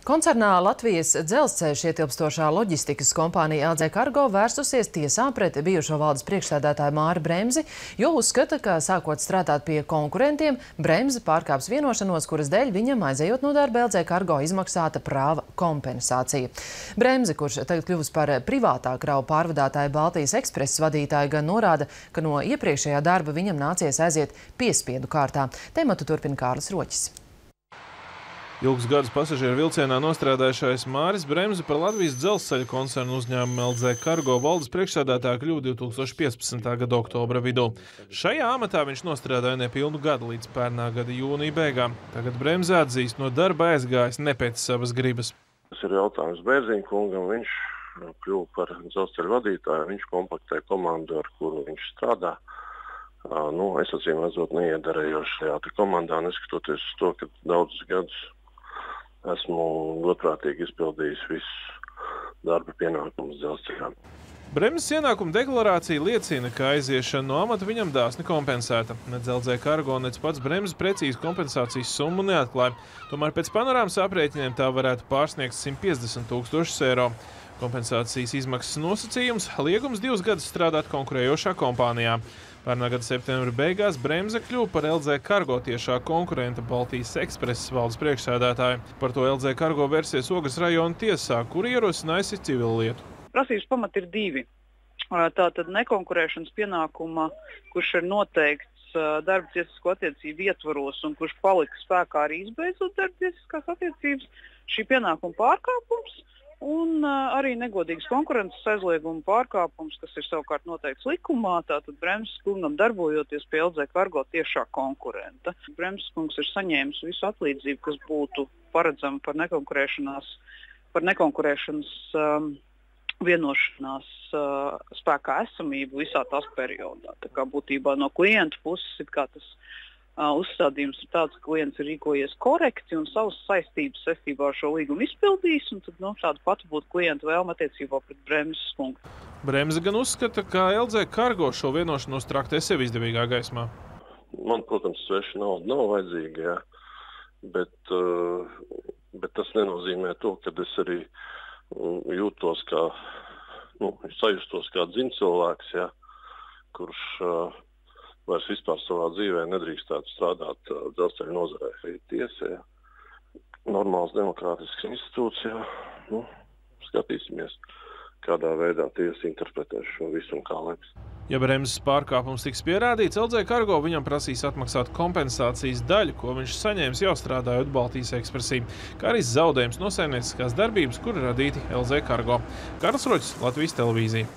Koncernā Latvijas dzelzceļš ietilpstošā loģistikas kompānija LZ Cargo vērsusies tiesā pret bijušo valdes priekšsēdētāju Māri Bremzi, jo uzskata, ka sākot strādāt pie konkurentiem, Bremzi pārkāps vienošanos, kuras dēļ viņam aizejot no darba LZ Cargo izmaksāta prāva kompensācija. Bremzi, kurš tagad kļuvusi par privātā kravu pārvadātāju Baltijas ekspreses vadītāju, gan norāda, ka no iepriekšējā darba viņam nācies aiziet piespiedu kārtā. Tematu turpina Kārlis Roķis. Ilgus gadus pasažieru vilcienā nostrādājušais Māris Bremzi par Latvijas dzelzceļa koncernu uzņēmumu LZ Cargo valdes priekšsēdētāju kļuva 2015. gada oktobra vidū. Šajā amatā viņš nostrādāja nepilnu gadu līdz pērnā gada jūnija beigām. Tagad Bremzi atzīst, no darba aizgājis ne pēc savas gribas. Tas ir jautājums Bērziņa kungam. Viņš kļuva par dzelzceļa vadītāju, viņš kompaktē komandu, ar kuru viņš strādā. Es acīm redzot neiedarējoši šajā komandā, neskatoties uz to, ka daudzus gadus esmu godprātīgi izpildījis visus darba pienākumus dzelzceļā. Bremzes ienākuma deklarācija liecina, ka aiziešana no amata viņam dāsni kompensēta. Nec LZ Cargo, nec pats Bremzes precīzi kompensācijas summu neatklāja. Tomēr pēc panorāmas aprēķiniem tā varētu pārsniegt 150 000 eiro. Kompensācijas izmaksas nosacījums – liegums 2 gadus strādāt konkurējošā kompānijā. Pērnā gada septembra beigās Bremze kļuva par LZ Cargo tiešā konkurenta Baltijas ekspreses valdes priekšsēdētāju. Par to LZ Cargo versies Ogres rajona tiesā, kur ierosinājusi civilu lietu. Prasības pamati ir 2. Tātad nekonkurēšanas pienākuma, kurš ir noteikts darba tiesisko attiecību ietvaros un kurš palika spēkā arī izbeidzot darba tiesiskās attiecības, šī pienākuma pārkāpums un arī negodīgas konkurences aizlieguma pārkāpums, kas ir savukārt noteikts likumā, tātad Bremzes kungam darbojoties pie LZ Cargo tiešā konkurenta. Bremzes kungs ir saņēmis visu atlīdzību, kas būtu paredzama par nekonkurēšanas vienošanās spēkā esamību visā tās periodā. Tā kā būtībā no klienta puses ir kā tas uzstādījums ir tāds, ka klients ir rīkojies korekti un savas saistības saistībā ar šo līgumu izpildījis, un tad tāda pati būtu klienta vēlme attiecībā pret Bremzes kungu. Bremze gan uzskata, ka LZ Cargo šo vienošanos traktē sev izdevīgā gaismā. Man, protams, sveša nauda nav vajadzīga, jā. Bet tas nenozīmē to, ka es arī jūtos kā, sajustos kā dziņcilvēks, jā, kurš vairs vispār savā dzīvē nedrīkstētu strādāt dzelzceļa nozarē. Tiesa, normāls demokrātisks institūcijā. Skatīsimies, kādā veidā tiesa interpretēs šo visu un kā lems. Ja Bremzes pārkāpums tiks pierādīts, LZ Cargo viņam prasīs atmaksāt kompensācijas daļu, ko viņš saņēmis jau strādājot Baltijas ekspresī, kā arī zaudējums no saimnieciskās darbības, kur radīti LZ Cargo. Kārlis Roķis, Latvijas televīzija.